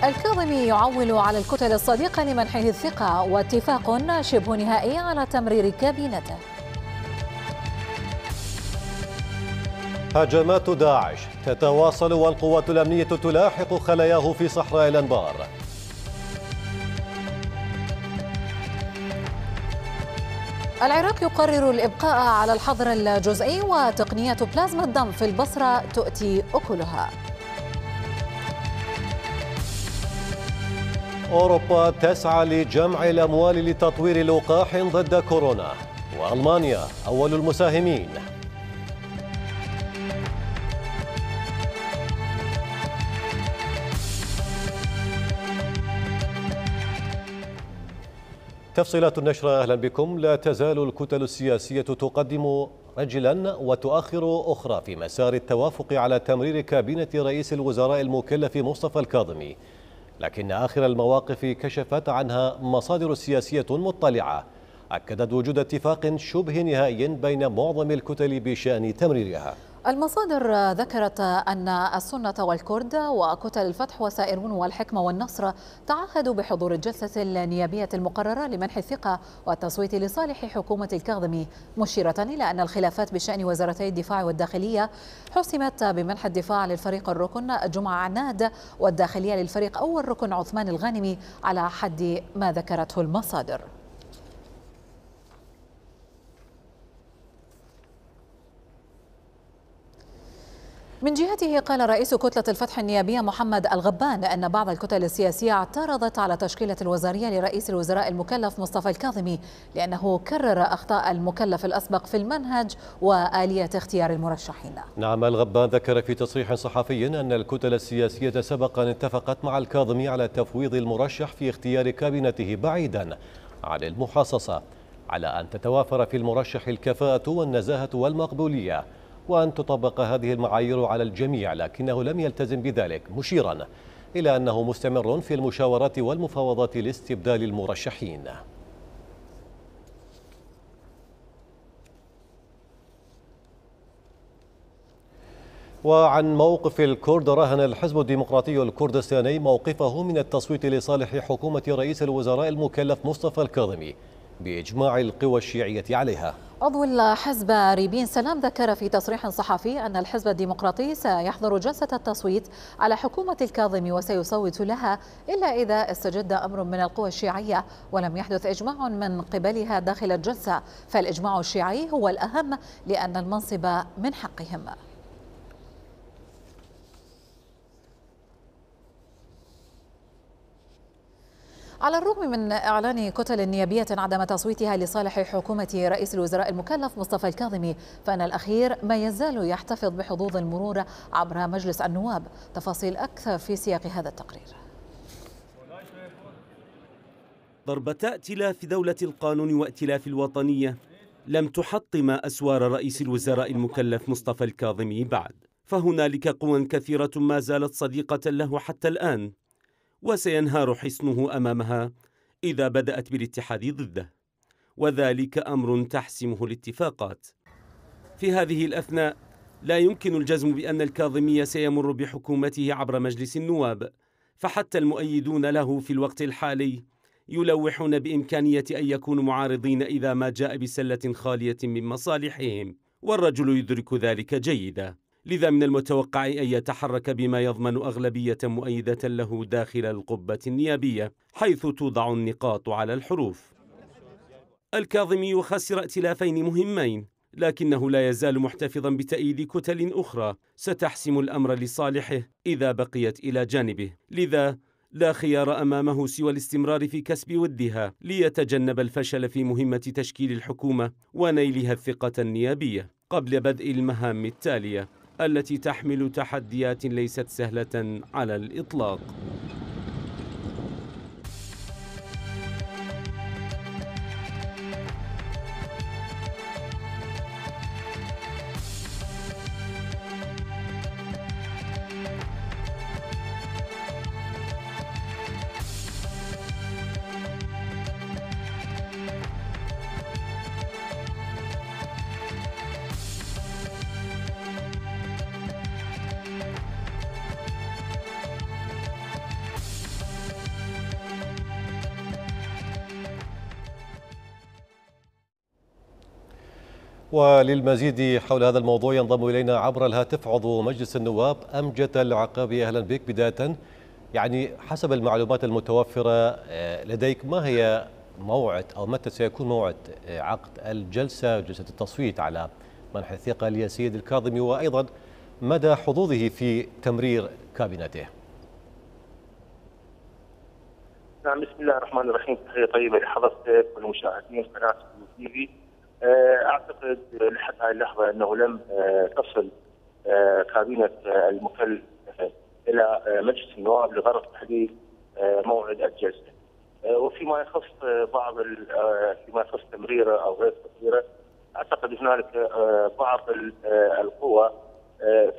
الكاظمي يعول على الكتل الصديقة لمنحه الثقة، واتفاق شبه نهائي على تمرير كابينته. هجمات داعش تتواصل والقوات الأمنية تلاحق خلاياه في صحراء الأنبار. العراق يقرر الإبقاء على الحظر الجزئي، وتقنية بلازما الدم في البصرة تؤتي أكلها. أوروبا تسعى لجمع الأموال لتطوير لقاح ضد كورونا، وألمانيا أول المساهمين. تفصيلات النشرة، أهلا بكم. لا تزال الكتل السياسية تقدم رجلا وتؤخر أخرى في مسار التوافق على تمرير كابينة رئيس الوزراء المكلف مصطفى الكاظمي، لكن آخر المواقف كشفت عنها مصادر سياسية مطلعة أكدت وجود اتفاق شبه نهائي بين معظم الكتل بشأن تمريرها. المصادر ذكرت أن السنة والكرد وكتل الفتح وسائرون والحكمة والنصر تعهدوا بحضور الجلسة النيابية المقررة لمنح الثقة والتصويت لصالح حكومة الكاظمي، مشيرة إلى أن الخلافات بشأن وزارتي الدفاع والداخلية حسمت بمنح الدفاع للفريق الركن جمعة عناد، والداخلية للفريق أول ركن عثمان الغانمي، على حد ما ذكرته المصادر. من جهته قال رئيس كتلة الفتح النيابية محمد الغبان أن بعض الكتل السياسية اعترضت على تشكيلة الوزارية لرئيس الوزراء المكلف مصطفى الكاظمي لأنه كرر أخطاء المكلف الأسبق في المنهج وآلية اختيار المرشحين. نعم، الغبان ذكر في تصريح صحفي أن الكتل السياسية سبقا اتفقت مع الكاظمي على تفويض المرشح في اختيار كابينته بعيدا عن المحاصصة، على أن تتوافر في المرشح الكفاءة والنزاهة والمقبولية، وأن تطبق هذه المعايير على الجميع، لكنه لم يلتزم بذلك، مشيرا إلى أنه مستمر في المشاورات والمفاوضات لاستبدال المرشحين. وعن موقف الكرد، رهن الحزب الديمقراطي الكردستاني موقفه من التصويت لصالح حكومة رئيس الوزراء المكلف مصطفى الكاظمي بإجماع القوى الشيعية عليها. عضو الحزب ريبين سلام ذكر في تصريح صحفي أن الحزب الديمقراطي سيحضر جلسة التصويت على حكومة الكاظمي وسيصوت لها، إلا إذا استجد أمر من القوى الشيعية ولم يحدث إجماع من قبلها داخل الجلسة، فالإجماع الشيعي هو الأهم لأن المنصب من حقهم. على الرغم من إعلان كتل نيابية عدم تصويتها لصالح حكومة رئيس الوزراء المكلف مصطفى الكاظمي، فإن الأخير ما يزال يحتفظ بحظوظ المرور عبر مجلس النواب. تفاصيل أكثر في سياق هذا التقرير. ضربة ائتلاف دولة القانون وائتلاف الوطنية لم تحطم أسوار رئيس الوزراء المكلف مصطفى الكاظمي بعد، فهنالك قوى كثيرة ما زالت صديقة له حتى الآن، وسينهار حصنه أمامها إذا بدأت بالاتحاد ضده، وذلك أمر تحسمه الاتفاقات. في هذه الأثناء لا يمكن الجزم بأن الكاظمي سيمر بحكومته عبر مجلس النواب، فحتى المؤيدون له في الوقت الحالي يلوحون بإمكانية أن يكونوا معارضين إذا ما جاء بسلة خالية من مصالحهم، والرجل يدرك ذلك جيدا. لذا من المتوقع أن يتحرك بما يضمن أغلبية مؤيدة له داخل القبة النيابية، حيث توضع النقاط على الحروف. الكاظمي خسر ائتلافين مهمين، لكنه لا يزال محتفظا بتأييد كتل أخرى ستحسم الأمر لصالحه إذا بقيت إلى جانبه، لذا لا خيار أمامه سوى الاستمرار في كسب ودها ليتجنب الفشل في مهمة تشكيل الحكومة ونيلها الثقة النيابية قبل بدء المهام التالية التي تحمل تحديات ليست سهلة على الإطلاق. وللمزيد حول هذا الموضوع ينضم إلينا عبر الهاتف عضو مجلس النواب أمجد العقابي. أهلا بك. بداية يعني حسب المعلومات المتوفرة لديك، ما هي موعد أو متى سيكون موعد عقد جلسة التصويت على منح الثقة للسيد الكاظمي، وأيضا مدى حظوظه في تمرير كابينته؟ نعم، بسم الله الرحمن الرحيم. تحية طيبة لحضرتك والمشاهدين قناة تي في. أعتقد لحد هذه اللحظة أنه لم تصل كابينة المكلف إلى مجلس النواب لغرض تحديد موعد الجلسة. وفيما يخص فيما يخص تمريره أو غير تمريره، أعتقد هنالك بعض القوى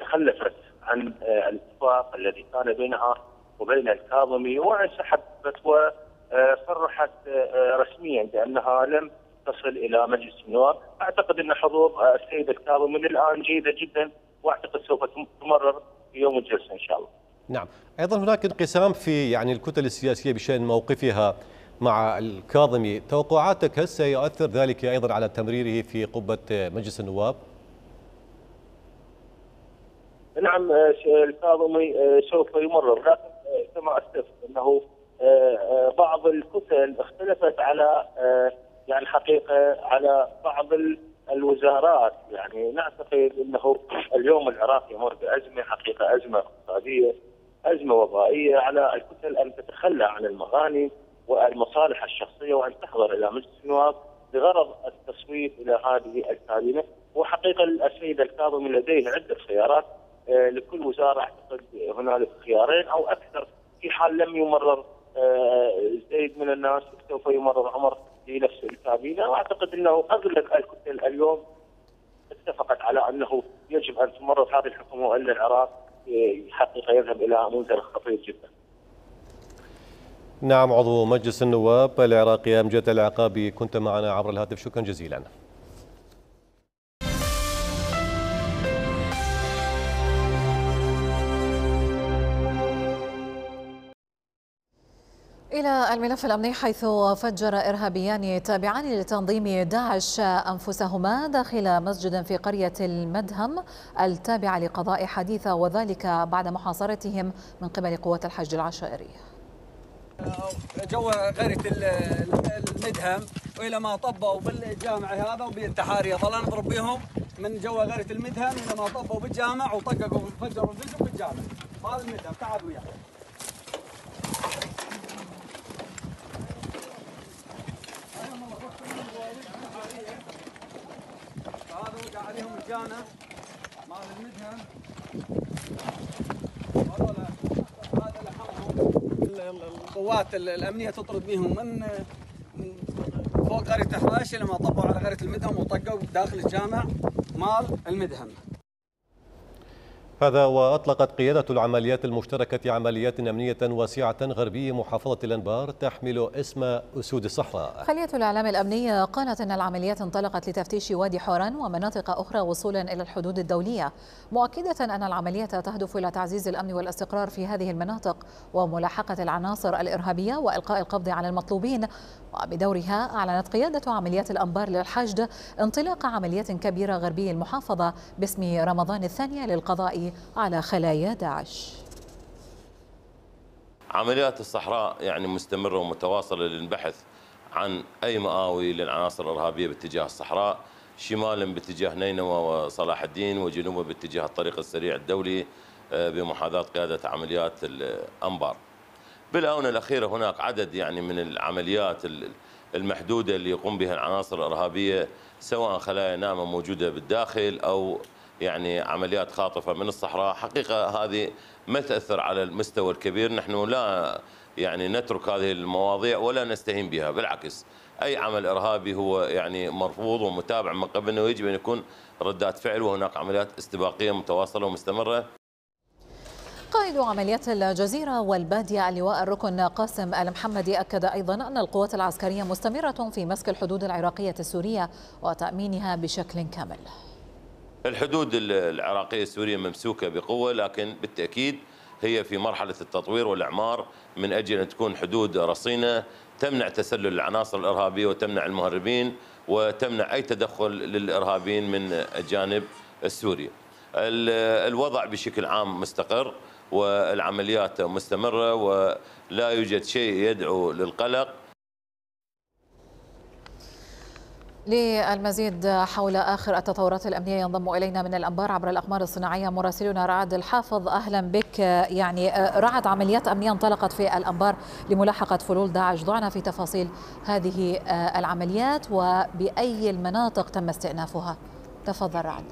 تخلفت عن الاتفاق الذي كان بينها وبين الكاظمي، وانسحبت وصرحت رسميا بأنها لم تصل إلى مجلس النواب. أعتقد أن حضور السيد الكاظمي الآن جيدة جدا، وأعتقد سوف تمرر في يوم الجلسة إن شاء الله. نعم، أيضا هناك انقسام في الكتل السياسية بشأن موقفها مع الكاظمي. توقعاتك هل سيؤثر ذلك أيضا على تمريره في قبة مجلس النواب؟ نعم، الكاظمي سوف يمرر، لكن كما أسلفت أنه بعض الكتل اختلفت على الحقيقة على بعض الوزارات. نعتقد أنه اليوم العراق يمر بأزمة، حقيقة أزمة اقتصادية، أزمة وبائية، على الكتل أن تتخلى عن المغانم والمصالح الشخصية وأن تحضر إلى مجلس النواب بغرض التصويت إلى هذه الكابينة. وحقيقة السيد الكاظمي لديه عدة خيارات لكل وزارة. أعتقد هنالك خيارين أو أكثر في حال لم يمرر زيد من الناس، سوف يمرر أمر لنفس الكابينة. وأعتقد أنه أغلب الكتل اليوم اتفقت على أنه يجب أن تمرر هذه الحكومة، وأن العراق حقيقة يذهب إلى منزل خطير جدا. نعم، عضو مجلس النواب العراقي أمجد العقابي كنت معنا عبر الهاتف، شكرا جزيلا. إلى الملف الأمني، حيث فجر إرهابيان تابعان لتنظيم داعش أنفسهما داخل مسجد في قرية المدهم التابعة لقضاء حديثة، وذلك بعد محاصرتهم من قبل قوات الحشد العشائري. جو قرية المدهم، وإلى ما طبوا بالجامع هذا وبالتحارية ظلنا نضرب بهم من جو قرية المدهم إلى ما طبوا بالجامع وطققوا وفجروا الفيزيو بالجامع. هذا المدهم تعال وياه. هذا وقع عليهم الجامع مال المدهم. هذا لحمهم. القوات الأمنية تطرد بهم من فوق قرية حراش لما طبوا على قرية المدهم وطقوا داخل الجامع مال المدهم. هذا وأطلقت قيادة العمليات المشتركة عمليات أمنية واسعة غربي محافظة الأنبار تحمل اسم أسود الصحراء. خلية الإعلام الأمني قالت أن العمليات انطلقت لتفتيش وادي حوران ومناطق أخرى وصولا إلى الحدود الدولية، مؤكدة أن العملية تهدف إلى تعزيز الأمن والاستقرار في هذه المناطق وملاحقة العناصر الإرهابية وإلقاء القبض على المطلوبين. وبدورها أعلنت قيادة عمليات الأنبار للحشد انطلاق عمليات كبيرة غربي المحافظة باسم رمضان الثانية للقضاء على خلايا داعش. عمليات الصحراء مستمرة ومتواصلة للبحث عن أي مآوي للعناصر الإرهابية باتجاه الصحراء، شمالا باتجاه نينوى وصلاح الدين، وجنوبا باتجاه الطريق السريع الدولي بمحاذاة قيادة عمليات الأنبار. بالآونة الأخيرة هناك عدد من العمليات المحدودة اللي يقوم بها العناصر الإرهابية، سواء خلايا ناعمة موجودة بالداخل أو عمليات خاطفة من الصحراء. حقيقة هذه ما تأثر على المستوى الكبير، نحن لا نترك هذه المواضيع ولا نستهين بها، بالعكس أي عمل إرهابي هو مرفوض ومتابع من قبلنا، ويجب أن يكون ردات فعل، وهناك عمليات استباقية متواصلة ومستمرة. قائد عمليات الجزيرة والبادية اللواء الركن قاسم المحمدي أكد أيضا أن القوات العسكرية مستمرة في مسك الحدود العراقية السورية وتأمينها بشكل كامل. الحدود العراقية السورية ممسوكة بقوة، لكن بالتأكيد هي في مرحلة التطوير والإعمار من أجل أن تكون حدود رصينة تمنع تسلل العناصر الإرهابية وتمنع المهربين وتمنع أي تدخل للإرهابيين من الجانب السوري. الوضع بشكل عام مستقر والعمليات مستمرة ولا يوجد شيء يدعو للقلق. للمزيد حول آخر التطورات الأمنية ينضم إلينا من الأنبار عبر الأقمار الصناعية مراسلنا رعد الحافظ. أهلا بك. يعني رعد، عمليات أمنية انطلقت في الأنبار لملاحقة فلول داعش، ضعنا في تفاصيل هذه العمليات وبأي المناطق تم استئنافها. تفضل رعد.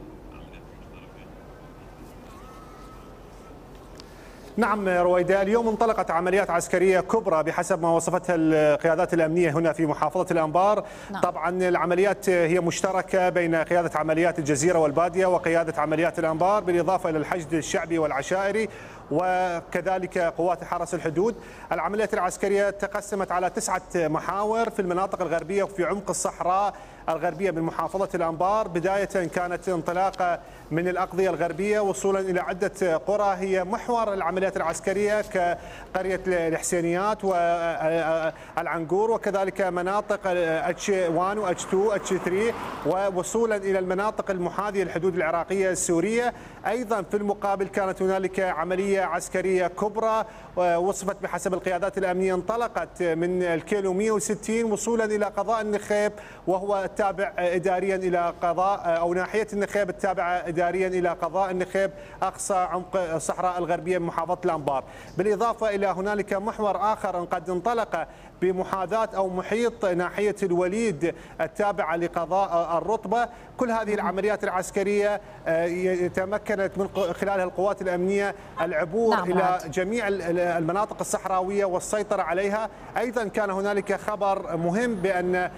نعم رويدة، اليوم انطلقت عمليات عسكرية كبرى بحسب ما وصفتها القيادات الأمنية هنا في محافظة الأنبار. نعم. طبعا العمليات هي مشتركة بين قيادة عمليات الجزيرة والبادية وقيادة عمليات الأنبار، بالإضافة إلى الحشد الشعبي والعشائري وكذلك قوات حرس الحدود. العمليات العسكرية تقسمت على 9 محاور في المناطق الغربية وفي عمق الصحراء الغربية من محافظة الأنبار. بداية كانت انطلاقة من الأقضية الغربية وصولا إلى عدة قرى هي محور العمليات العسكرية كقرية الحسينيات والعنقور وكذلك مناطق اتش 1 واتش 2 واتش 3 ووصولا إلى المناطق المحاذية للحدود العراقية السورية. أيضا في المقابل كانت هنالك عملية عسكرية كبرى وصفت بحسب القيادات الأمنية، انطلقت من الكيلو 160 وصولا إلى قضاء النخيب، وهو التابع إداريا إلى قضاء أو ناحية النخيب التابعة إداريا إلى قضاء النخيب أقصى عمق الصحراء الغربية من محافظة الأنبار. بالإضافة إلى هنالك محور آخر قد انطلق بمحاذاة أو محيط ناحية الوليد التابعة لقضاء الرطبة. كل هذه العمليات العسكرية تمكنت من خلالها القوات الأمنية العبور إلى جميع المناطق الصحراوية والسيطرة عليها. أيضا كان هنالك خبر مهم بأن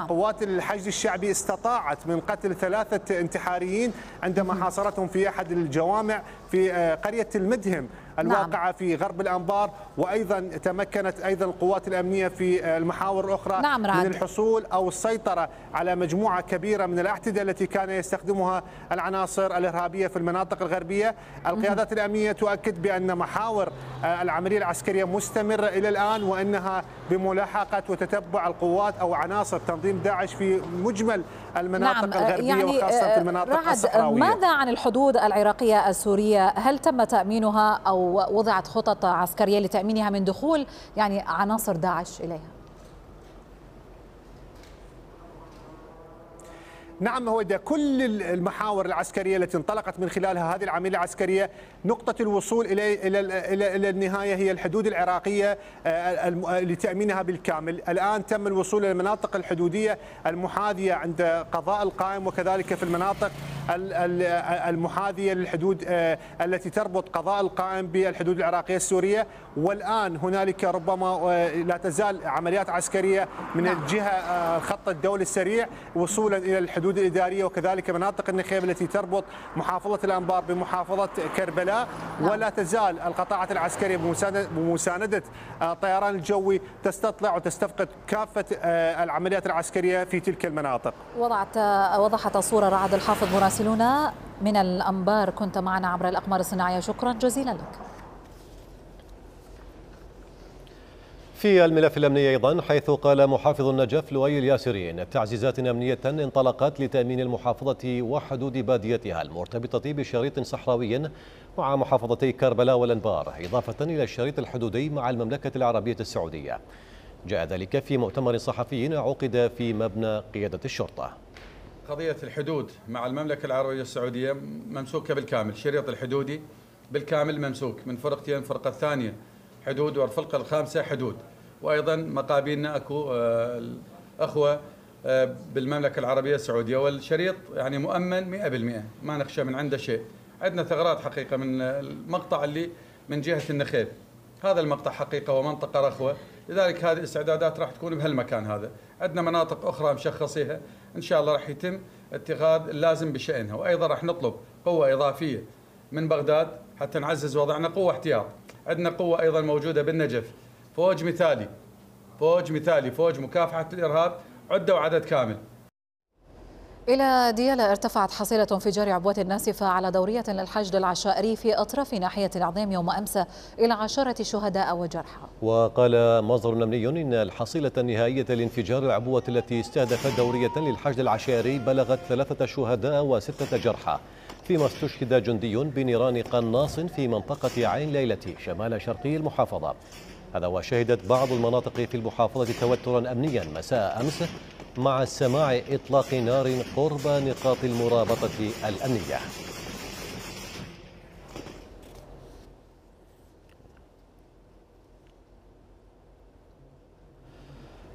قوات الحشد الشعبي استطاعت من قتل 3 انتحاريين عندما حاصرتهم في أحد الجوامع في قرية المدهم الواقعة في غرب الأنبار. وأيضا تمكنت أيضا القوات الأمنية في المحاور الأخرى من الحصول أو السيطرة على مجموعة كبيرة من الأعتدة التي كان يستخدمها العناصر الإرهابية في المناطق الغربية. القيادات الأمنية تؤكد بأن محاور العملية العسكرية مستمرة إلى الآن، وأنها بملاحقة وتتبع القوات أو عناصر تنظيم داعش في مجمل المناطق الغربية يعني وخاصة في المناطق الصحراوية. ماذا عن الحدود العراقية السورية؟ هل تم تأمينها أو وضعت خطط عسكرية لتأمينها من دخول يعني عناصر داعش إليها؟ نعم هو ده كل المحاور العسكرية التي انطلقت من خلالها هذه العملية العسكرية نقطة الوصول إلى النهاية هي الحدود العراقية لتأمينها بالكامل. الآن تم الوصول إلى المناطق الحدودية المحاذية عند قضاء القائم وكذلك في المناطق المحاذية للحدود التي تربط قضاء القائم بالحدود العراقية السورية. والآن هنالك ربما لا تزال عمليات عسكرية من الجهة خط الدولي السريع وصولا إلى الحدود الإدارية وكذلك مناطق النخيب التي تربط محافظة الأنبار بمحافظة كربلاء. ولا تزال القطاعات العسكرية بمساندة الطيران الجوي تستطلع وتستفقد كافة العمليات العسكرية في تلك المناطق. وضحت الصورة رعد الحافظ مراسلنا من الأنبار، كنت معنا عبر الأقمار الصناعية، شكرا جزيلا لك. في الملف الأمني أيضا، حيث قال محافظ النجف لؤي الياسرين تعزيزات أمنية انطلقت لتأمين المحافظة وحدود باديتها المرتبطة بشريط صحراوي مع محافظتي كربلاء والأنبار، إضافة إلى الشريط الحدودي مع المملكة العربية السعودية. جاء ذلك في مؤتمر صحفي عقد في مبنى قيادة الشرطة. قضية الحدود مع المملكة العربية السعودية ممسوكة بالكامل، الشريط الحدودي بالكامل ممسوك من فرقتين، الفرقة الثانية حدود والفرقة الخامسة حدود، وأيضا مقابلنا أكو الأخوة بالمملكة العربية السعودية، والشريط يعني مؤمن 100%، ما نخشى من عنده شيء. عندنا ثغرات حقيقة من المقطع اللي من جهة النخيل، هذا المقطع حقيقة ومنطقة رخوة، لذلك هذه الاستعدادات راح تكون بهالمكان هذا. عندنا مناطق أخرى مشخصيها إن شاء الله راح يتم اتخاذ اللازم بشأنها، وأيضا راح نطلب قوة إضافية من بغداد حتى نعزز وضعنا، قوة احتياط. عندنا قوة أيضا موجودة بالنجف، فوج مثالي، فوج مكافحة الإرهاب، عدة وعدد كامل. إلى ديالى ارتفعت حصيلة انفجار عبوة ناسفة على دورية للحشد العشائري في أطراف ناحية العظيم يوم أمس إلى 10 شهداء وجرحى. وقال مصدر أمني إن الحصيلة النهائية لانفجار العبوة التي استهدفت دورية للحشد العشائري بلغت 3 شهداء و6 جرحى، فيما استشهد جندي بنيران قناص في منطقة عين ليلة شمال شرقي المحافظة. هذا وشهدت بعض المناطق في المحافظة توترا أمنيا مساء أمس مع سماع إطلاق نار قرب نقاط المرابطة الأمنية.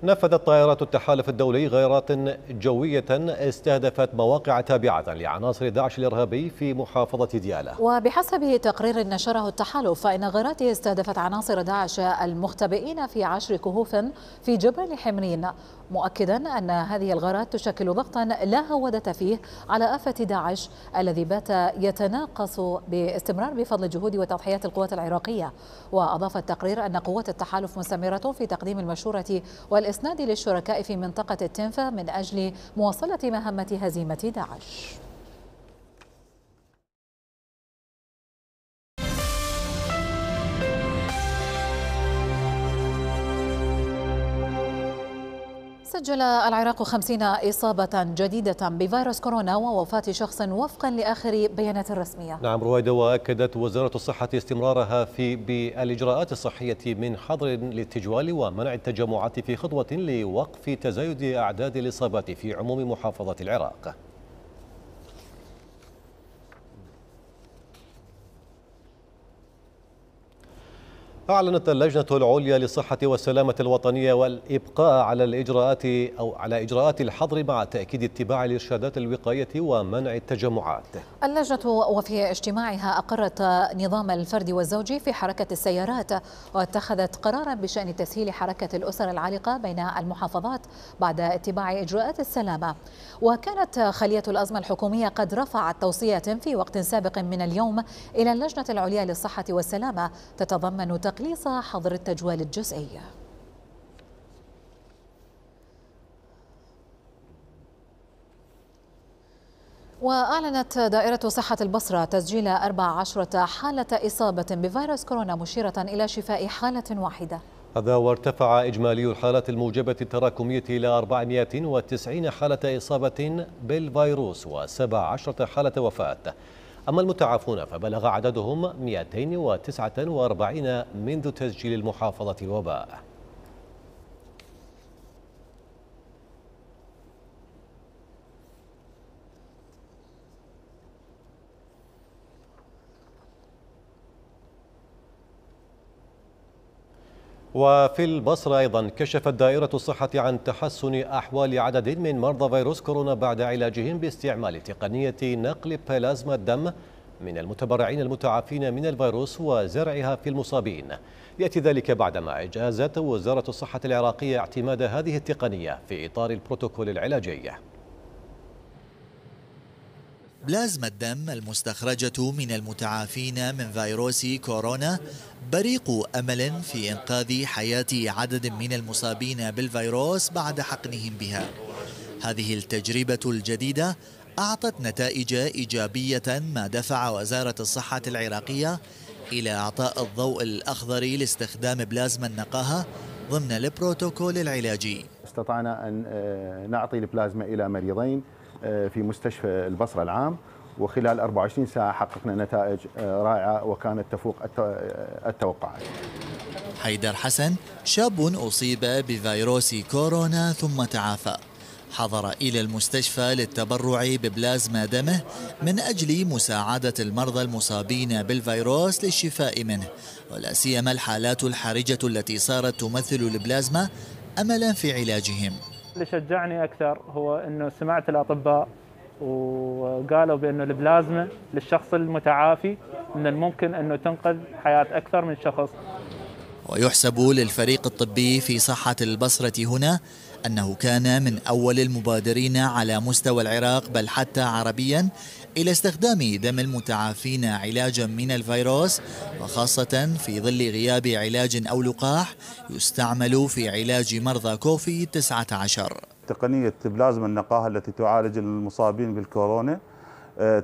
نفذت طائرات التحالف الدولي غارات جوية استهدفت مواقع تابعة لعناصر داعش الإرهابي في محافظة ديالى. وبحسب تقرير نشره التحالف فإن غاراته استهدفت عناصر داعش المختبئين في 10 كهوف في جبل حمرين، مؤكدا أن هذه الغارات تشكل ضغطا لا هودة فيه على آفة داعش الذي بات يتناقص باستمرار بفضل جهود وتضحيات القوات العراقية. وأضاف التقرير أن قوات التحالف مستمرة في تقديم المشورة والإسناد للشركاء في منطقة التنفة من أجل مواصلة مهمة هزيمة داعش. سجل العراق 50 إصابة جديدة بفيروس كورونا ووفاة شخص وفقا لآخر بيانات رسمية. نعم رويدة، وأكدت وزارة الصحة استمرارها بالإجراءات الصحية من حظر للتجوال ومنع التجمعات في خطوة لوقف تزايد أعداد الإصابات في عموم محافظة العراق. أعلنت اللجنة العليا للصحة والسلامة الوطنية والإبقاء على إجراءات الحظر مع تأكيد اتباع الإرشادات الوقائية ومنع التجمعات. اللجنة وفي اجتماعها أقرت نظام الفرد والزوجي في حركة السيارات، واتخذت قرارا بشأن تسهيل حركة الأسر العالقة بين المحافظات بعد اتباع إجراءات السلامة. وكانت خلية الأزمة الحكومية قد رفعت توصية في وقت سابق من اليوم إلى اللجنة العليا للصحة والسلامة تتضمن تقليص حظر التجوال الجزئي. وأعلنت دائرة صحة البصرة تسجيل 14 حالة إصابة بفيروس كورونا، مشيرة إلى شفاء حالة واحدة. هذا وارتفع إجمالي الحالات الموجبة التراكمية إلى 490 حالة إصابة بالفيروس و17 حالة وفاة. أما المتعافون فبلغ عددهم 249 منذ تسجيل المحافظة الوباء. وفي البصرة أيضا كشفت دائرة الصحة عن تحسن أحوال عدد من مرضى فيروس كورونا بعد علاجهم باستعمال تقنية نقل بلازما الدم من المتبرعين المتعافين من الفيروس وزرعها في المصابين. يأتي ذلك بعدما أجازت وزارة الصحة العراقية اعتماد هذه التقنية في إطار البروتوكول العلاجي. بلازما الدم المستخرجة من المتعافين من فيروس كورونا بريق أمل في إنقاذ حياة عدد من المصابين بالفيروس بعد حقنهم بها. هذه التجربة الجديدة أعطت نتائج إيجابية، ما دفع وزارة الصحة العراقية إلى إعطاء الضوء الأخضر لاستخدام بلازما النقاهة ضمن البروتوكول العلاجي. استطعنا أن نعطي البلازما إلى مريضين في مستشفى البصرة العام، وخلال 24 ساعة حققنا نتائج رائعة وكانت تفوق التوقعات. حيدر حسن شاب أصيب بفيروس كورونا ثم تعافى، حضر إلى المستشفى للتبرع ببلازما دمه من أجل مساعدة المرضى المصابين بالفيروس للشفاء منه، ولا سيما الحالات الحرجة التي صارت تمثل البلازما أملا في علاجهم. اللي شجعني أكثر هو أنه سمعت الأطباء وقالوا بأنه البلازما للشخص المتعافي من الممكن أنه تنقذ حياة أكثر من شخص. ويحسب للفريق الطبي في صحة البصرة هنا أنه كان من أول المبادرين على مستوى العراق بل حتى عربيا إلى استخدام دم المتعافين علاجا من الفيروس، وخاصة في ظل غياب علاج أو لقاح يستعمل في علاج مرضى كوفيد-19. تقنية بلازما النقاهة التي تعالج المصابين بالكورونا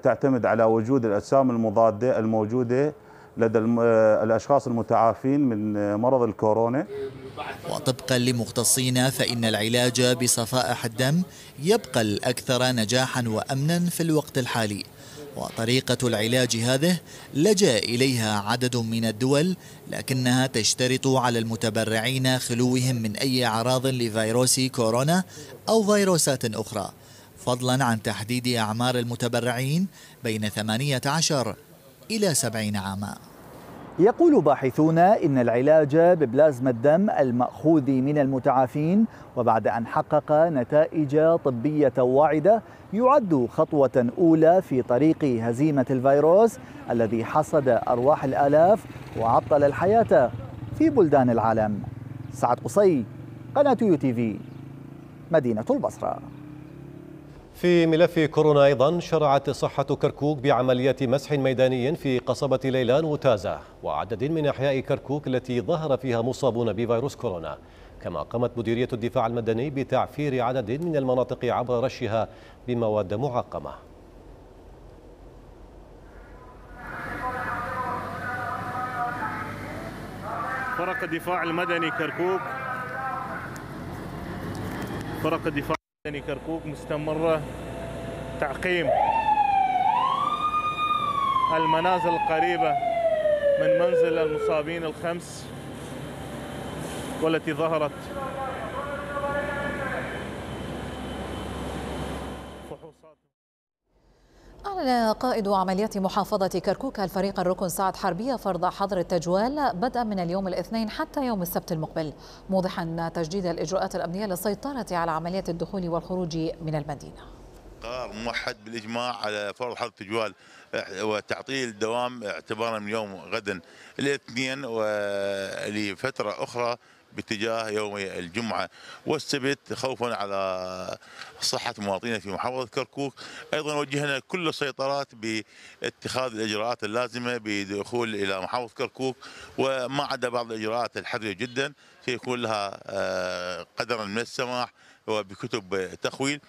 تعتمد على وجود الأجسام المضادة الموجودة لدى الأشخاص المتعافين من مرض الكورونا. وطبقا لمختصين فإن العلاج بصفائح الدم يبقى الأكثر نجاحا وأمنا في الوقت الحالي، وطريقة العلاج هذه لجأ إليها عدد من الدول، لكنها تشترط على المتبرعين خلوهم من أي أعراض لفيروس كورونا أو فيروسات أخرى، فضلا عن تحديد أعمار المتبرعين بين 18 إلى 70 عاما. يقول باحثون إن العلاج ببلازما الدم المأخوذ من المتعافين وبعد أن حقق نتائج طبية واعدة يعد خطوة أولى في طريق هزيمة الفيروس الذي حصد أرواح الآلاف وعطل الحياة في بلدان العالم. سعد قصي، قناة UTV، مدينة البصرة. في ملف كورونا أيضا شرعت صحة كركوك بعمليات مسح ميداني في قصبة ليلان وتازة وعدد من أحياء كركوك التي ظهر فيها مصابون بفيروس كورونا، كما قامت مديرية الدفاع المدني بتعفير عدد من المناطق عبر رشها بمواد معقمة. فرق الدفاع المدني كركوك مستمرة تعقيم المنازل القريبة من منزل المصابين الخمس والتي ظهرت فحوصات. أعلن قائد عمليات محافظة كركوك الفريق الركن سعد حربية فرض حظر التجوال بدءا من اليوم الاثنين حتى يوم السبت المقبل، موضحا تجديد الإجراءات الأمنية للسيطرة على عمليات الدخول والخروج من المدينة. قرار موحد بالإجماع على فرض حظر التجوال وتعطيل الدوام اعتبارا من يوم غدا الاثنين ولفترة أخرى باتجاه يوم الجمعة والسبت خوفا على صحة مواطنينا في محافظة كركوك. أيضا وجهنا كل السيطرات باتخاذ الإجراءات اللازمة بدخول إلى محافظة كركوك، وما عدا بعض الإجراءات الحذرة جدا سيكون لها قدرا من السماح وبكتب تخويل.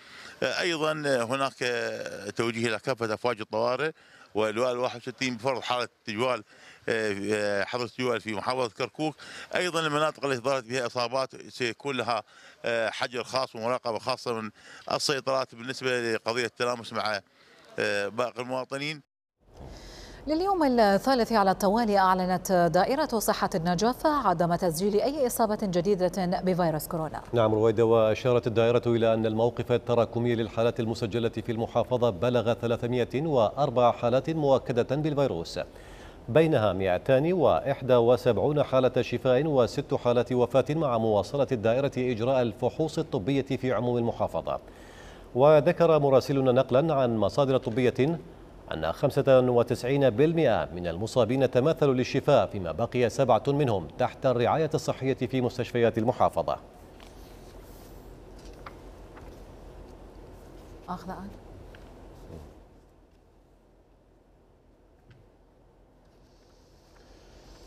أيضا هناك توجيه إلى كافة أفواج الطوارئ واللواء 61 بفرض حالة تجوال حظر التجوال في محافظة كركوك. أيضا المناطق التي ظهرت بها إصابات سيكون لها حجر خاص ومراقبة خاصة من السيطرات بالنسبة لقضية التلامس مع باقي المواطنين. لليوم الثالث على التوالي أعلنت دائرة صحة النجف عدم تسجيل أي إصابة جديدة بفيروس كورونا. نعم رويدة، وأشارت الدائرة إلى أن الموقف التراكمي للحالات المسجلة في المحافظة بلغ 304 حالات مؤكدة بالفيروس، بينها 271 حالة شفاء و6 حالات وفاة، مع مواصلة الدائرة إجراء الفحوص الطبية في عموم المحافظة. وذكر مراسلنا نقلا عن مصادر طبية أن 95% من المصابين تماثلوا للشفاء، فيما بقي 7 منهم تحت الرعاية الصحية في مستشفيات المحافظة.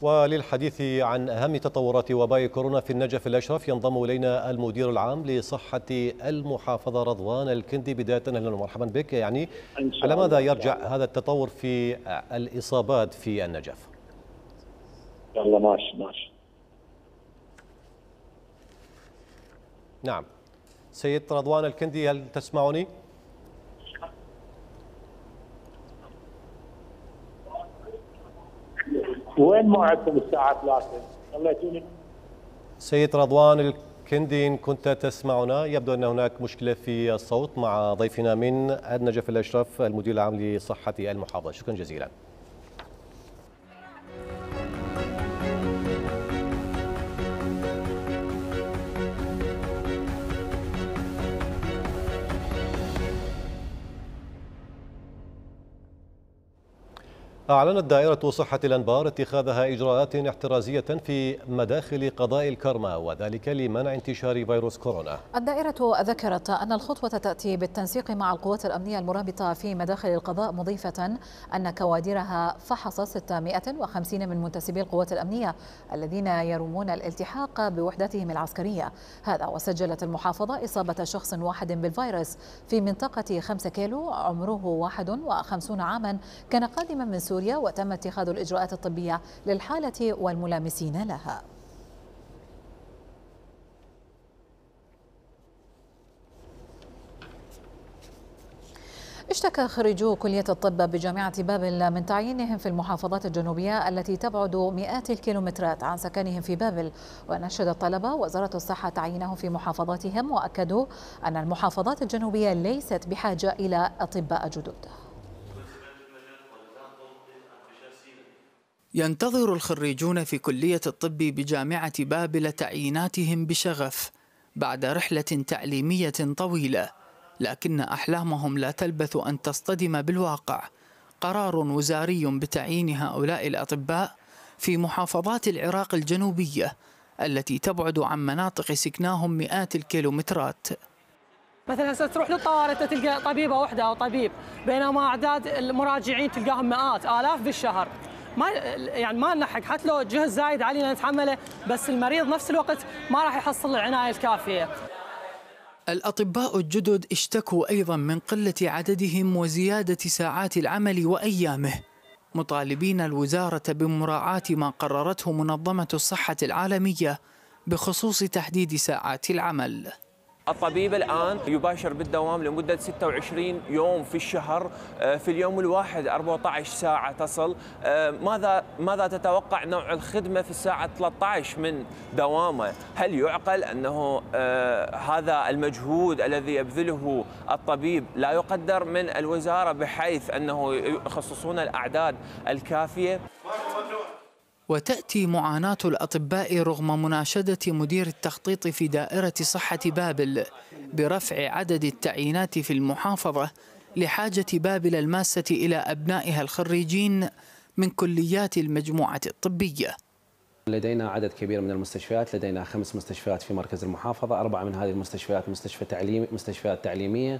وللحديث عن أهم تطورات وباء كورونا في النجف الأشرف ينضم إلينا المدير العام لصحة المحافظة رضوان الكندي. بداية أهلا ومرحبا بك. يعني على ماذا يرجع هذا التطور في الإصابات في النجف؟ يلا ماشي. نعم سيد رضوان الكندي، هل تسمعني؟ وين موعدكم الساعة 3؟ خليتوني. سيد رضوان الكندي، إن كنت تسمعنا، يبدو أن هناك مشكلة في الصوت مع ضيفنا من النجف الأشرف المدير العام لصحة المحافظة. شكرا جزيلا. أعلنت دائرة صحة الأنبار اتخاذها إجراءات احترازية في مداخل قضاء الكرمة، وذلك لمنع انتشار فيروس كورونا. الدائرة ذكرت أن الخطوة تأتي بالتنسيق مع القوات الأمنية المرابطة في مداخل القضاء، مضيفة أن كوادرها فحص 650 من منتسبي القوات الأمنية الذين يرومون الالتحاق بوحداتهم العسكرية. هذا وسجلت المحافظة إصابة شخص واحد بالفيروس في منطقة 5 كيلو، عمره 51 عاما، كان قادما من سوريا، وتم اتخاذ الإجراءات الطبية للحالة والملامسين لها. اشتكى خريجو كلية الطب بجامعة بابل من تعيينهم في المحافظات الجنوبية التي تبعد مئات الكيلومترات عن سكنهم في بابل، ونشد الطلبة وزارة الصحة تعيينهم في محافظاتهم، وأكدوا أن المحافظات الجنوبية ليست بحاجة إلى أطباء جدد. ينتظر الخريجون في كلية الطب بجامعة بابل تعييناتهم بشغف بعد رحلة تعليمية طويلة، لكن أحلامهم لا تلبث أن تصطدم بالواقع. قرار وزاري بتعيين هؤلاء الأطباء في محافظات العراق الجنوبية التي تبعد عن مناطق سكناهم مئات الكيلومترات. مثلا هسه تروح للطوارئ تلقى طبيبة واحدة أو طبيب، بينما أعداد المراجعين تلقاهم مئات آلاف بالشهر. ما نلحق، حتى لو جهد زايد علينا نتحمله، بس المريض نفس الوقت ما راح يحصل العناية الكافية. الأطباء الجدد اشتكوا أيضا من قلة عددهم وزيادة ساعات العمل وأيامه، مطالبين الوزارة بمراعاة ما قررته منظمة الصحة العالمية بخصوص تحديد ساعات العمل. الطبيب الآن يباشر بالدوام لمدة 26 يوم في الشهر، في اليوم الواحد 14 ساعة تصل. ماذا تتوقع نوع الخدمة في الساعة 13 من دوامه؟ هل يعقل أنه هذا المجهود الذي يبذله الطبيب لا يقدر من الوزارة بحيث أنه يخصصون الأعداد الكافية؟ وتأتي معاناة الأطباء رغم مناشدة مدير التخطيط في دائرة صحة بابل برفع عدد التعيينات في المحافظة لحاجة بابل الماسة إلى أبنائها الخريجين من كليات المجموعة الطبية. لدينا عدد كبير من المستشفيات، لدينا 5 مستشفيات في مركز المحافظة، 4 من هذه المستشفيات مستشفيات تعليمية،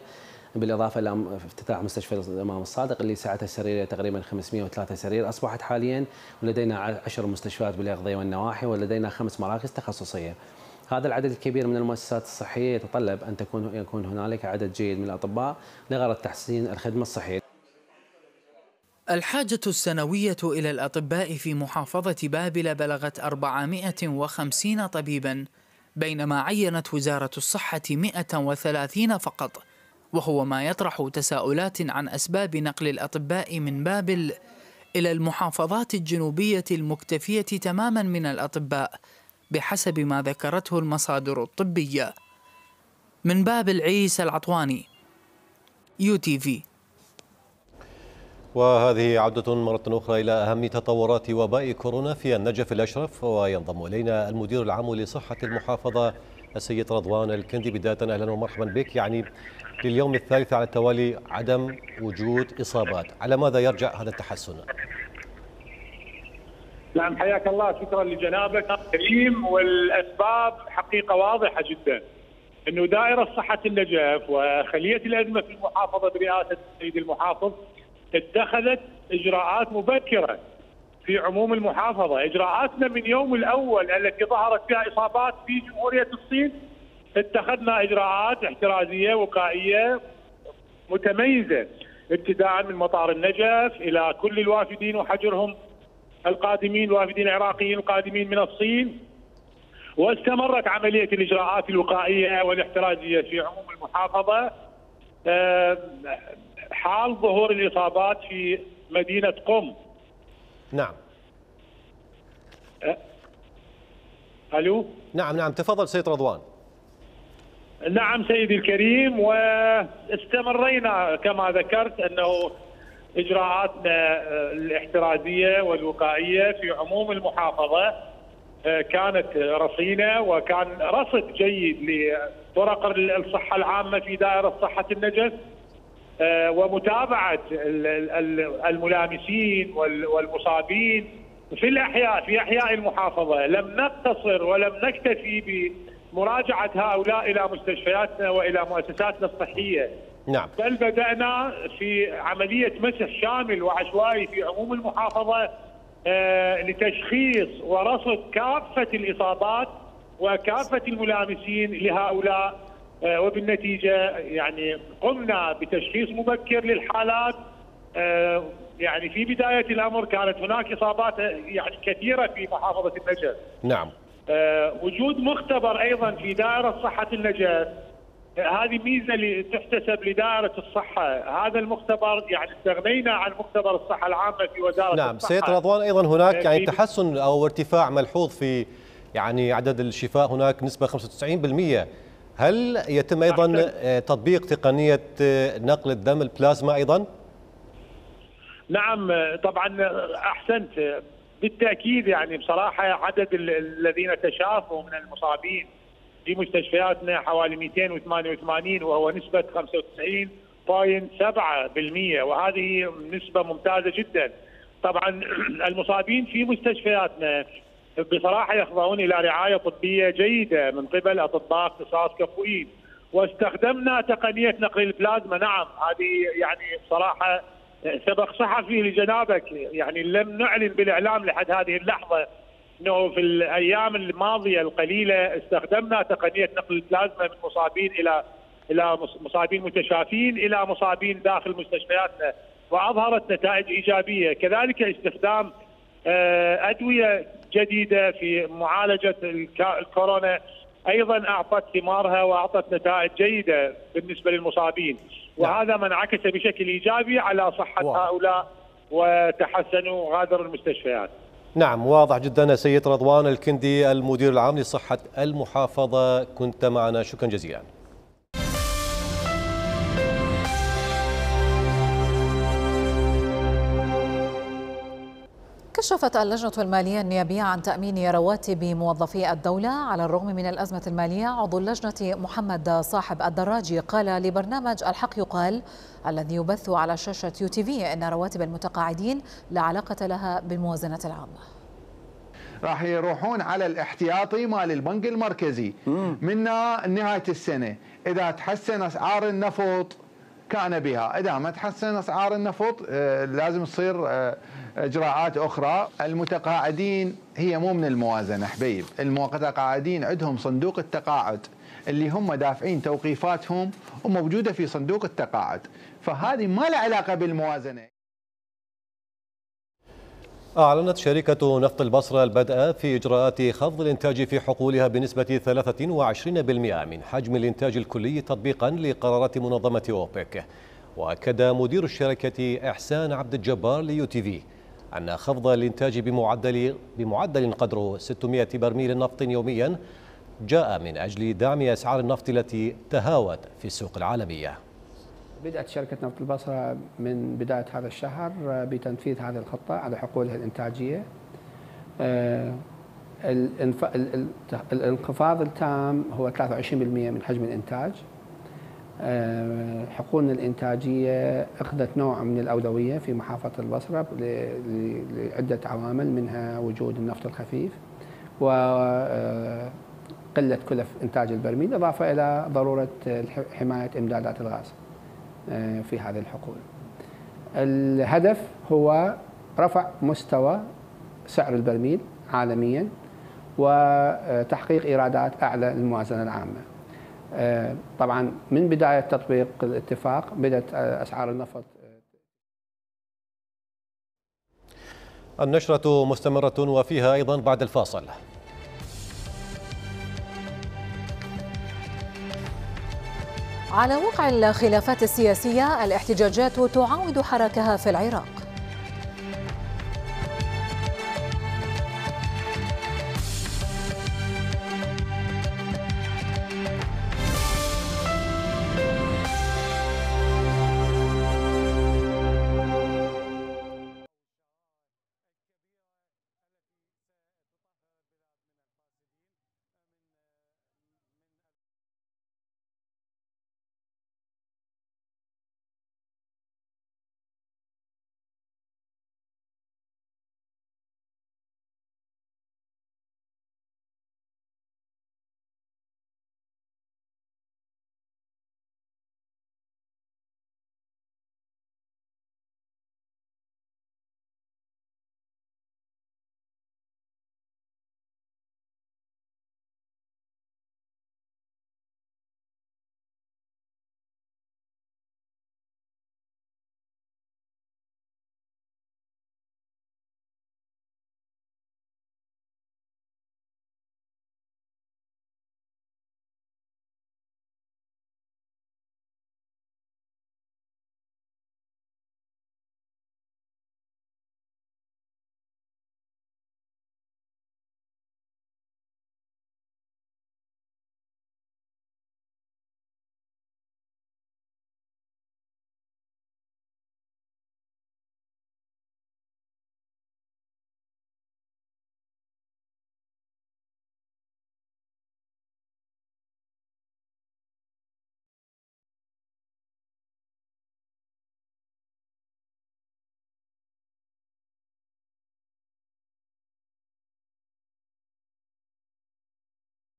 بالإضافة إلى افتتاح مستشفى الإمام الصادق اللي سعته السريرية تقريبا 503 سرير أصبحت حاليا، ولدينا 10 مستشفيات بالأغذية والنواحي، ولدينا 5 مراكز تخصصية. هذا العدد الكبير من المؤسسات الصحية يتطلب أن يكون هنالك عدد جيد من الأطباء لغرض تحسين الخدمة الصحية. الحاجة السنوية إلى الأطباء في محافظة بابل بلغت 450 طبيبا، بينما عينت وزارة الصحة 130 فقط، وهو ما يطرح تساؤلات عن أسباب نقل الأطباء من بابل إلى المحافظات الجنوبية المكتفية تماما من الأطباء بحسب ما ذكرته المصادر الطبية. من بابل عيسى العطواني، UTV. وهذه عودة مرة أخرى إلى أهم تطورات وباء كورونا في النجف الأشرف، وينضم إلينا المدير العام لصحة المحافظة السيد رضوان الكندي. بداية أهلا ومرحبا بك. يعني لليوم الثالث على التوالي عدم وجود إصابات، على ماذا يرجع هذا التحسن؟ نعم حياك الله، شكرا لجنابك كريم. والأسباب حقيقة واضحة جدا، أنه دائرة صحة النجف وخلية الأزمة في المحافظة برئاسة السيد المحافظ اتخذت إجراءات مبكرة في عموم المحافظة. إجراءاتنا من يوم الأول التي ظهرت فيها إصابات في جمهورية الصين اتخذنا إجراءات احترازية وقائية متميزة، ابتداء من مطار النجف إلى كل الوافدين وحجرهم القادمين، الوافدين العراقيين القادمين من الصين. واستمرت عملية الإجراءات الوقائية والاحترازية في عموم المحافظة حال ظهور الإصابات في مدينة قم. نعم. ألو؟ نعم تفضل سيد رضوان. نعم سيدي الكريم، واستمرينا كما ذكرت أنه إجراءاتنا الاحترازية والوقائية في عموم المحافظة كانت رصينة، وكان رصد جيد لطرق الصحة العامة في دائرة صحة النجف. ومتابعة الملامسين والمصابين في أحياء المحافظة. لم نقتصر ولم نكتفي بمراجعة هؤلاء إلى مستشفياتنا وإلى مؤسساتنا الصحية، نعم، بل بدأنا في عملية مسح شامل وعشوائي في عموم المحافظة لتشخيص ورصد كافة الإصابات وكافة الملامسين لهؤلاء، وبالنتيجة يعني قمنا بتشخيص مبكر للحالات. يعني في بداية الأمر كانت هناك إصابات يعني كثيرة في محافظة النجف. نعم. وجود مختبر أيضا في دائرة صحة النجف، هذه ميزة تحتسب لدائرة الصحة. هذا المختبر يعني استغنينا عن مختبر الصحة العامة في وزارة نعم. الصحة. سيد رضوان، أيضا هناك يعني تحسن أو ارتفاع ملحوظ في يعني عدد الشفاء، هناك نسبة 95%. هل يتم أيضا تطبيق تقنية نقل الدم البلازما أيضا؟ نعم طبعا أحسنت بالتأكيد. يعني بصراحة عدد الذين تشافوا من المصابين في مستشفياتنا حوالي 288، وهو نسبة 95.7%، وهذه نسبة ممتازة جدا. طبعا المصابين في مستشفياتنا بصراحة يخضعون إلى رعاية طبية جيدة من قبل أطباء اختصاص كفؤين، واستخدمنا تقنية نقل البلازما. نعم، هذه يعني بصراحة سبق صحفي لجنابك، يعني لم نعلن بالإعلام لحد هذه اللحظة أنه في الأيام الماضية القليلة استخدمنا تقنية نقل البلازما من مصابين إلى مصابين متشافين إلى مصابين داخل مستشفياتنا، وأظهرت نتائج إيجابية. كذلك استخدام أدوية جديدة في معالجة الكورونا أيضا أعطت ثمارها وأعطت نتائج جيدة بالنسبة للمصابين، وهذا ما انعكس بشكل إيجابي على صحة هؤلاء وتحسنوا وغادروا المستشفيات. نعم، واضح جدا. سيد رضوان الكندي المدير العام لصحة المحافظة، كنت معنا، شكرا جزيلا. كشفت اللجنة المالية النيابية عن تأمين رواتب موظفي الدولة على الرغم من الأزمة المالية. عضو اللجنة محمد صاحب الدراجي قال لبرنامج الحق يقال الذي يبث على شاشة UTV إن رواتب المتقاعدين لا علاقة لها بالموازنة العامة. راح يروحون على الاحتياطي مال البنك المركزي من نهاية السنة. إذا تحسن أسعار النفط كان بها، إذا ما تحسن أسعار النفط لازم تصير إجراءات أخرى. المتقاعدين هي مو من الموازنة حبيب، المتقاعدين عندهم صندوق التقاعد اللي هم دافعين توقيفاتهم وموجودة في صندوق التقاعد، فهذه ما لها علاقة بالموازنة. أعلنت شركة نفط البصرة البدء في إجراءات خفض الإنتاج في حقولها بنسبة 23% من حجم الإنتاج الكلي تطبيقا لقرارات منظمة أوبك. وأكد مدير الشركة إحسان عبد الجبار لUTV أن خفض الإنتاج بمعدل قدره 600 برميل نفط يوميا جاء من أجل دعم أسعار النفط التي تهاوت في السوق العالمية. بدأت شركة نفط البصرة من بداية هذا الشهر بتنفيذ هذه الخطة على حقولها الإنتاجية. الانخفاض التام هو 23% من حجم الإنتاج. حقولنا الإنتاجية أخذت نوع من الأولوية في محافظة البصرة لعدة عوامل، منها وجود النفط الخفيف وقلة كلف إنتاج البرميل، إضافة إلى ضرورة حماية إمدادات الغاز في هذه الحقول. الهدف هو رفع مستوى سعر البرميل عالميا وتحقيق إيرادات أعلى للموازنة العامة. طبعا من بداية تطبيق الاتفاق بدأت أسعار النفط. النشرة مستمرة وفيها أيضا بعد الفاصل. على وقع الخلافات السياسية، الاحتجاجات تعاود حركها في العراق.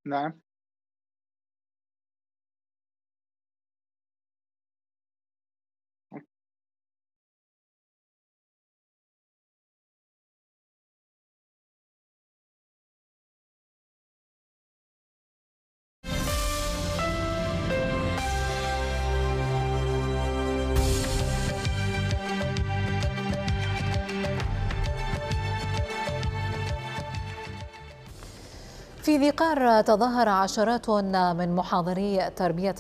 نعم. في ذي قار تظاهر عشرات من محاضري تربية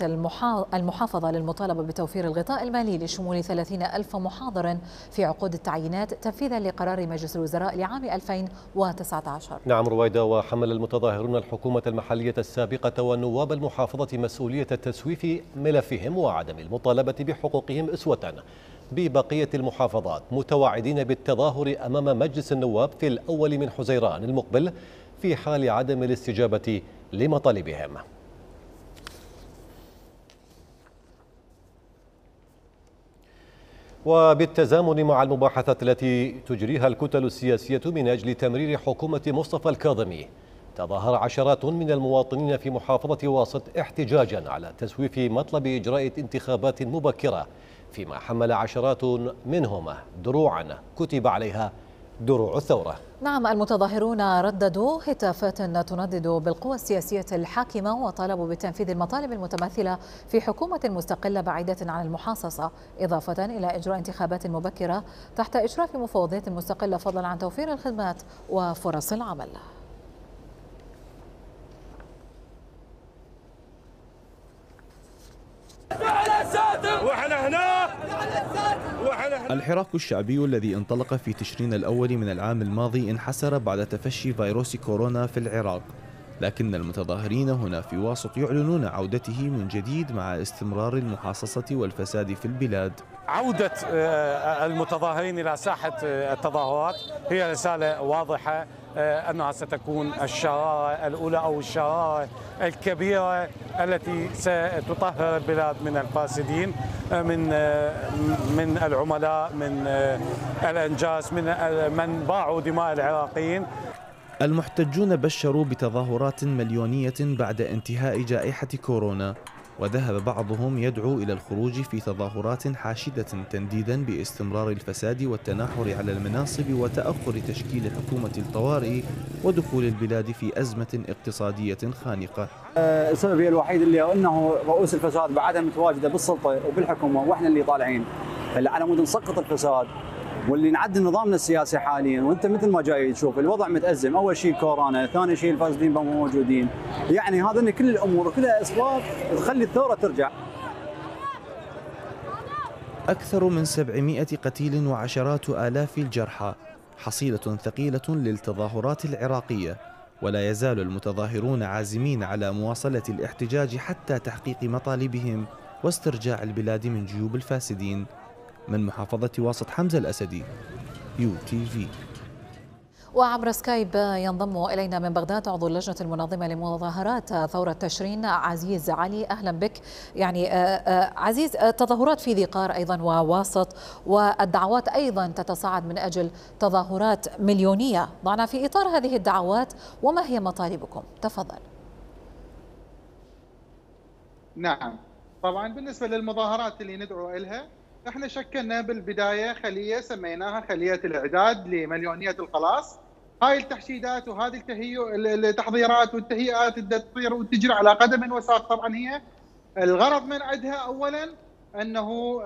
المحافظة للمطالبة بتوفير الغطاء المالي لشمول 30,000 محاضر في عقود التعيينات تنفيذا لقرار مجلس الوزراء لعام 2019. نعم رويدا. وحمل المتظاهرون الحكومة المحلية السابقة والنواب المحافظة مسؤولية تسويف ملفهم وعدم المطالبة بحقوقهم أسوة ببقية المحافظات، متوعدين بالتظاهر أمام مجلس النواب في الأول من حزيران المقبل في حال عدم الاستجابة لمطالبهم. وبالتزامن مع المباحثات التي تجريها الكتل السياسية من أجل تمرير حكومة مصطفى الكاظمي، تظاهر عشرات من المواطنين في محافظة واسط احتجاجا على تسويف مطلب إجراء انتخابات مبكرة، فيما حمل عشرات منهم دروعا كتب عليها دروع الثورة. نعم، المتظاهرون رددوا هتافات تندد بالقوى السياسية الحاكمة وطالبوا بتنفيذ المطالب المتمثلة في حكومة مستقلة بعيدة عن المحاصصة، إضافة إلى إجراء انتخابات مبكرة تحت إشراف مفوضية مستقلة، فضلا عن توفير الخدمات وفرص العمل. الحراك الشعبي الذي انطلق في تشرين الأول من العام الماضي انحسر بعد تفشي فيروس كورونا في العراق، لكن المتظاهرين هنا في واسط يعلنون عودته من جديد مع استمرار المحاصصة والفساد في البلاد. عودة المتظاهرين إلى ساحة التظاهرات هي رسالة واضحة أنها ستكون الشرارة الأولى أو الشرارة الكبيرة التي ستطهر البلاد من الفاسدين، من العملاء، من الأنجاس، من باعوا دماء العراقيين. المحتجون بشروا بتظاهرات مليونية بعد انتهاء جائحة كورونا، وذهب بعضهم يدعو إلى الخروج في تظاهرات حاشدة تنديدا باستمرار الفساد والتناحر على المناصب وتأخر تشكيل حكومة الطوارئ ودخول البلاد في أزمة اقتصادية خانقة. السبب الوحيد اللي أنه رؤوس الفساد بعدها متواجدة بالسلطة وبالحكومة، وإحنا اللي طالعين على مود نسقط الفساد واللي نعدل نظامنا السياسي حاليا. وانت مثل ما جاي تشوف الوضع متأزم، اول شيء كورونا، ثاني شيء الفاسدين مو موجودين، يعني هذا كل الامور وكلها اسباب تخلي الثوره ترجع. اكثر من 700 قتيل وعشرات آلاف الجرحى، حصيلة ثقيلة للتظاهرات العراقية، ولا يزال المتظاهرون عازمين على مواصلة الاحتجاج حتى تحقيق مطالبهم واسترجاع البلاد من جيوب الفاسدين. من محافظة واسط، حمزة الأسدي، UTV. وعبر سكايب ينضم إلينا من بغداد عضو اللجنة المنظمة لمظاهرات ثورة تشرين عزيز علي. أهلا بك. يعني عزيز، تظاهرات في ذي قار أيضا وواسط، والدعوات أيضا تتصاعد من أجل تظاهرات مليونية، ضعنا في إطار هذه الدعوات وما هي مطالبكم؟ تفضل. نعم، طبعا بالنسبة للمظاهرات اللي ندعو إلها، احنا شكلنا بالبدايه خليه سميناها خليه الاعداد لمليونيه الخلاص. هاي التحشيدات وهذه التحضيرات والتهيئات اللي تصير وتجري على قدم وساق، طبعا هي الغرض من عندها اولا انه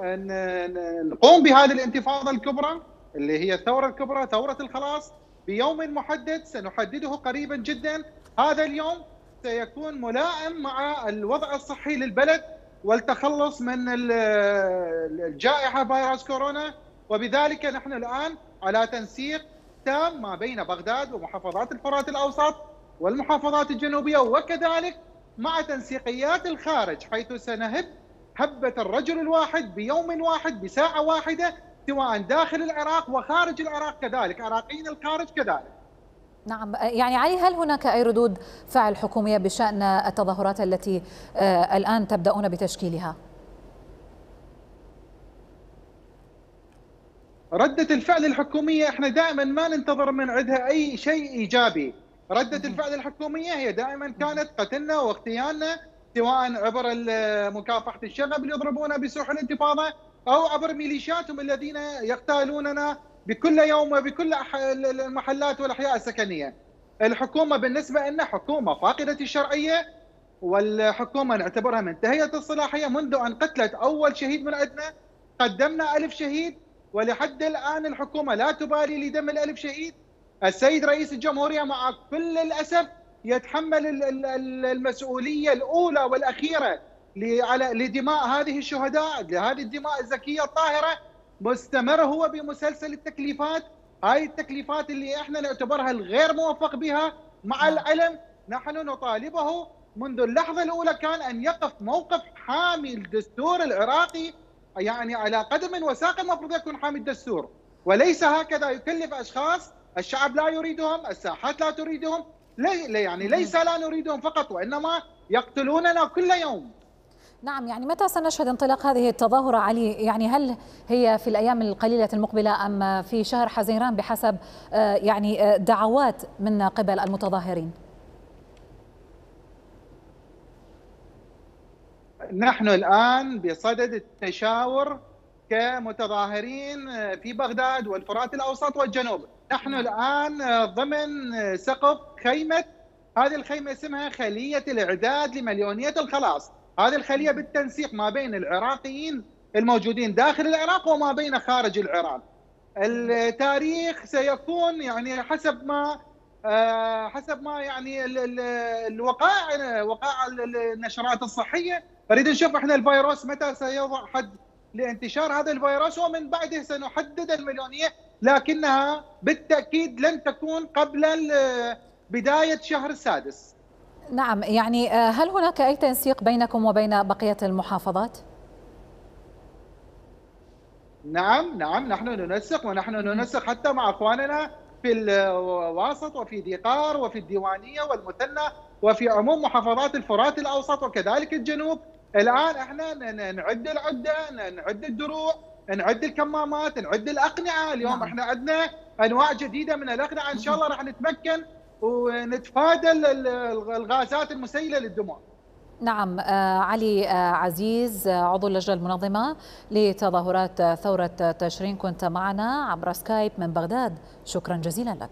نقوم بهذه الانتفاضه الكبرى اللي هي الثوره الكبرى، ثوره الخلاص، بيوم محدد سنحدده قريبا جدا. هذا اليوم سيكون ملائم مع الوضع الصحي للبلد والتخلص من الجائحة فيروس كورونا، وبذلك نحن الآن على تنسيق تام ما بين بغداد ومحافظات الفرات الأوسط والمحافظات الجنوبية، وكذلك مع تنسيقيات الخارج، حيث سنهب هبة الرجل الواحد بيوم واحد بساعة واحدة، سواء داخل العراق وخارج العراق كذلك، عراقيين الخارج كذلك. نعم، يعني علي، هل هناك أي ردود فعل حكومية بشأن التظاهرات التي الآن تبدأون بتشكيلها؟ ردة الفعل الحكومية احنا دائما ما ننتظر من عندها أي شيء إيجابي، ردة الفعل الحكومية هي دائما كانت قتلنا واغتيالنا، سواء عبر مكافحة الشغب اللي يضربونا بسوح الانتفاضة أو عبر ميليشياتهم الذين يغتالوننا بكل يوم وبكل المحلات والأحياء السكنية. الحكومة بالنسبة لنا حكومة فاقدة الشرعية، والحكومة نعتبرها منتهية الصلاحية. منذ أن قتلت أول شهيد من عندنا قدمنا 1000 شهيد، ولحد الآن الحكومة لا تبالي لدم ال1000 شهيد. السيد رئيس الجمهورية مع كل الأسف يتحمل المسؤولية الأولى والأخيرة لدماء هذه الشهداء، لهذه الدماء الزكية الطاهرة. مستمر هو بمسلسل التكليفات، هاي التكليفات اللي احنا نعتبرها الغير موفق بها. مع العلم نحن نطالبه منذ اللحظة الأولى كان أن يقف موقف حامي الدستور العراقي، يعني على قدم وساق المفروض يكون حامي الدستور، وليس هكذا يكلف أشخاص الشعب لا يريدهم، الساحات لا تريدهم، يعني ليس لا نريدهم فقط وإنما يقتلوننا كل يوم. نعم، يعني متى سنشهد انطلاق هذه التظاهرة علي؟ يعني هل هي في الأيام القليلة المقبلة أم في شهر حزيران بحسب يعني دعوات من قبل المتظاهرين؟ نحن الآن بصدد التشاور كمتظاهرين في بغداد والفرات الأوسط والجنوب. نحن الآن ضمن سقف خيمة، هذه الخيمة اسمها خلية الإعداد لمليونية الخلاص. هذه الخلية بالتنسيق ما بين العراقيين الموجودين داخل العراق وما بين خارج العراق. التاريخ سيكون يعني حسب ما يعني وقائع النشرات الصحية. نريد نشوف احنا الفيروس متى سيوضع حد لانتشار هذا الفيروس، ومن بعده سنحدد المليونية، لكنها بالتأكيد لن تكون قبل بداية شهر السادس. نعم، يعني هل هناك أي تنسيق بينكم وبين بقية المحافظات؟ نعم نحن ننسق، ونحن ننسق حتى مع أخواننا في الواسط وفي ديقار وفي الديوانية والمثنى وفي عموم محافظات الفرات الأوسط وكذلك الجنوب. الآن احنا نعد العدة، نعد الدروع، نعد الكمامات، نعد الأقنعة. اليوم احنا عندنا أنواع جديدة من الأقنعة، إن شاء الله راح نتمكن ونتفادى الغازات المسيلة للدماء. نعم، علي عزيز عضو اللجنة المنظمة لتظاهرات ثورة تشرين، كنت معنا عبر سكايب من بغداد، شكرا جزيلا لك.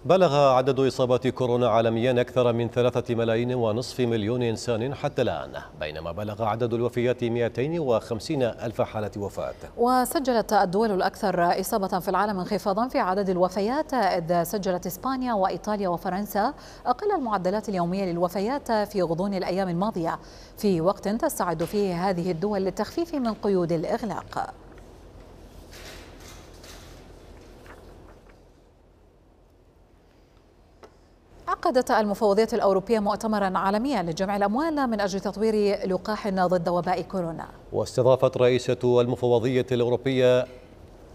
بلغ عدد إصابات كورونا عالميا أكثر من 3.5 مليون إنسان حتى الآن، بينما بلغ عدد الوفيات 250 ألف حالة وفاة. وسجلت الدول الأكثر إصابة في العالم انخفاضا في عدد الوفيات، إذ سجلت إسبانيا وإيطاليا وفرنسا أقل المعدلات اليومية للوفيات في غضون الأيام الماضية، في وقت تستعد فيه هذه الدول للتخفيف من قيود الإغلاق. عقدت المفوضية الأوروبية مؤتمرا عالميا لجمع الأموال من أجل تطوير لقاح ضد وباء كورونا. واستضافت رئيسة المفوضية الأوروبية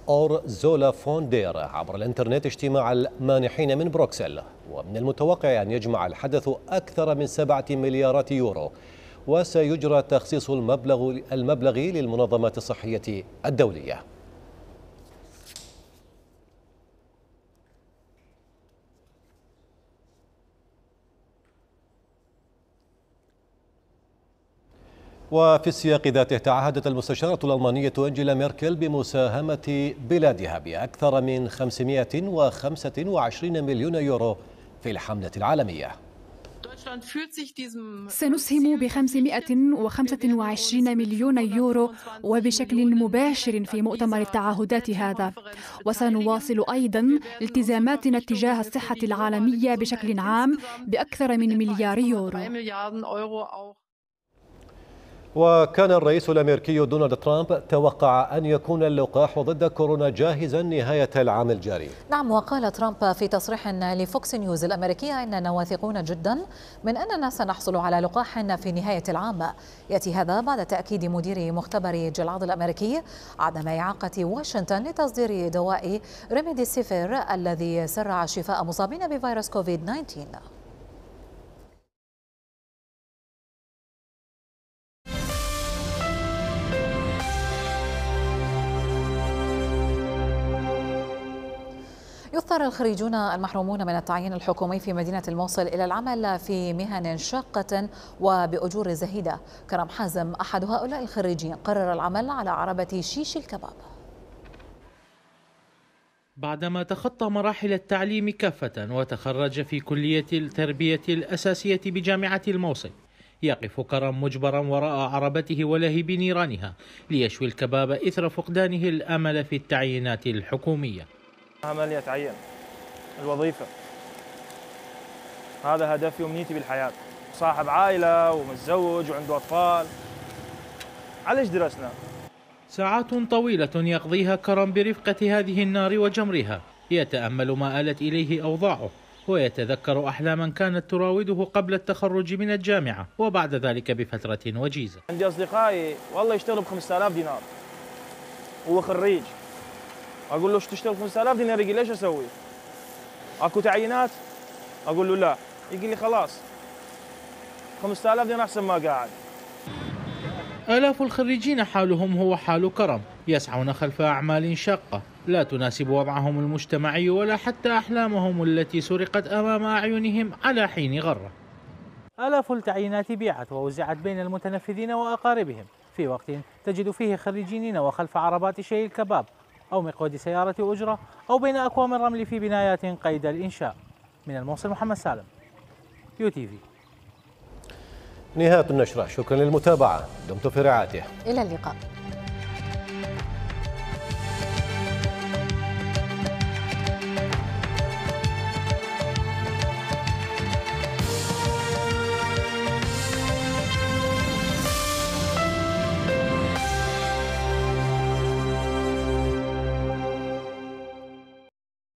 أورزولا فون دير عبر الإنترنت اجتماع المانحين من بروكسل، ومن المتوقع أن يجمع الحدث أكثر من 7 مليارات يورو، وسيجرى تخصيص المبلغ للمنظمات الصحية الدولية. وفي السياق ذاته تعهدت المستشارة الألمانية أنجيلا ميركل بمساهمة بلادها بأكثر من 525 مليون يورو في الحملة العالمية. سنسهم ب 525 مليون يورو وبشكل مباشر في مؤتمر التعهدات هذا، وسنواصل أيضا التزاماتنا تجاه الصحة العالمية بشكل عام بأكثر من مليار يورو. وكان الرئيس الأمريكي دونالد ترامب توقع أن يكون اللقاح ضد كورونا جاهزا نهاية العام الجاري. نعم، وقال ترامب في تصريح لفوكس نيوز الأمريكية إننا واثقون جدا من أننا سنحصل على لقاح في نهاية العام. يأتي هذا بعد تأكيد مدير مختبر جلعاد الأمريكي عدم إعاقة واشنطن لتصدير دواء ريميديسيفير الذي سرع شفاء مصابين بفيروس كوفيد-19. يضطر الخريجون المحرومون من التعيين الحكومي في مدينة الموصل إلى العمل في مهن شاقة وبأجور زهيدة. كرم حازم أحد هؤلاء الخريجين قرر العمل على عربة شيش الكباب. بعدما تخطى مراحل التعليم كافة وتخرج في كلية التربية الأساسية بجامعة الموصل، يقف كرم مجبرا وراء عربته ولهب نيرانها ليشوي الكباب إثر فقدانه الأمل في التعيينات الحكومية. أملي أتعين الوظيفة، هذا هدفي وأمنيتي بالحياة. صاحب عائلة ومتزوج وعنده أطفال، عليش درسنا؟ ساعات طويلة يقضيها كرم برفقة هذه النار وجمرها، يتأمل ما آلت إليه أوضاعه ويتذكر أحلاما كانت تراوده قبل التخرج من الجامعة وبعد ذلك بفترة وجيزة. عندي أصدقائي والله يشتغلوا ب5000 دينار، هو خريج، أقول له شو تشتغل 5000 دينار؟ يقول ليش أسوي؟ أكو تعيينات؟ أقول له لا، يقول لي خلاص 5000 دينار أحسن ما قاعد. آلاف الخريجين حالهم هو حال كرم، يسعون خلف أعمال شاقة لا تناسب وضعهم المجتمعي ولا حتى أحلامهم التي سرقت أمام أعينهم على حين غرة. آلاف التعيينات بيعت ووزعت بين المتنفذين وأقاربهم في وقت تجد فيه خريجين وخلف عربات شيء الكباب أو مقود سيارة أجرة أو بين أكوام الرمل في بنايات قيد الإنشاء. من الموصل محمد سالم، UTV. نهاية النشرة، شكرا للمتابعة، دمتم في رعايته. إلى اللقاء.